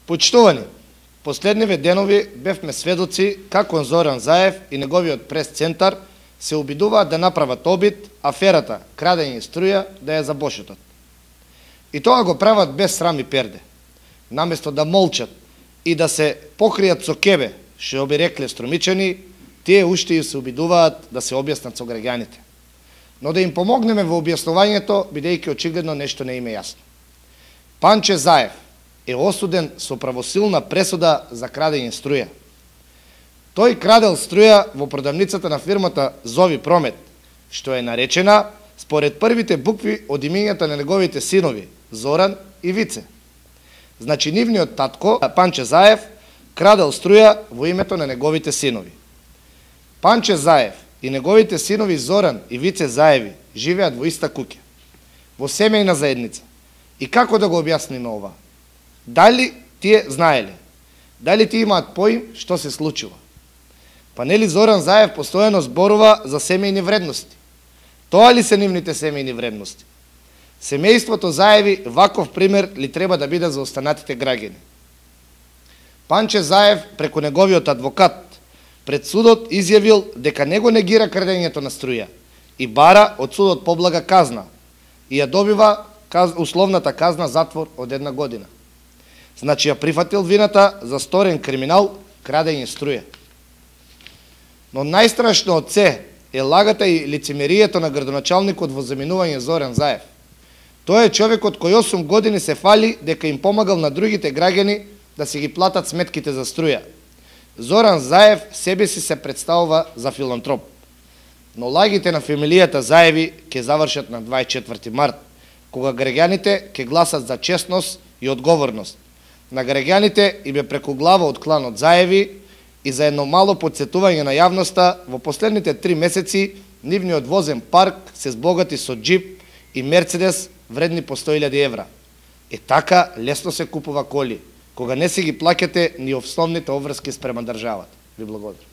Почитувани, последниве денови бевме сведоци како Зоран Заев и неговиот прес-центар се обидуваат да направат обид аферата крадење струја да ја забошетат. И тоа го прават без срам и перде. Наместо да молчат и да се покријат со кебе, што би рекле струмичани, тие уште и се обидуваат да се објаснат со граѓаните. Но да им помогнеме во објаснувањето, бидејќи очигледно нешто не им е јасно. Панче Заев е осуден со правосилна пресуда за крадење струја. Тој крадел струја во продавницата на фирмата Зови Промет, што е наречена според првите букви од имињата на неговите синови Зоран и Вице. Значи нивниот татко Панче Заев крадел струја во името на неговите синови. Панче Заев и неговите синови Зоран и Вице Заеви живеат во иста куќа, во семејна заедница. И како да го објасниме ова? Дали тие знаеле? Дали тие имаат поим што се случува? Па нели Зоран Заев постојано зборува за семејни вредности? Тоа ли се нивните семејни вредности? Семејството Заеви ваков пример ли треба да биде за останатите граѓани? Панче Заев преку неговиот адвокат пред судот изјавил дека него негира крадењето на струја и бара од судот поблага казна и ја добива условната казна затвор од 1 година. Значи ја прифатил вината за сторен криминал крадење струја. Но најстрашно од се е лагата и лицемерието на градоначалникот во заминување Зоран Заев. Тој е човекот кој 8 години се фали дека им помагал на другите граѓани да си ги платат сметките за струја. Зоран Заев себе си се представува за филантроп. Но лагите на фамилијата Заеви ќе завршат на 24 март, кога граѓаните ќе гласат за честност и одговорност. На граѓаните им е преку глава од кланот Заеви и за едно мало подсетување на јавноста, во последните 3 месеци нивниот возен парк се збогати со джип и Мерцедес вредни по 100.000 евра. Е така лесно се купува коли, кога не си ги плаќате ни основните обврски спрема државата. Ви благодарам.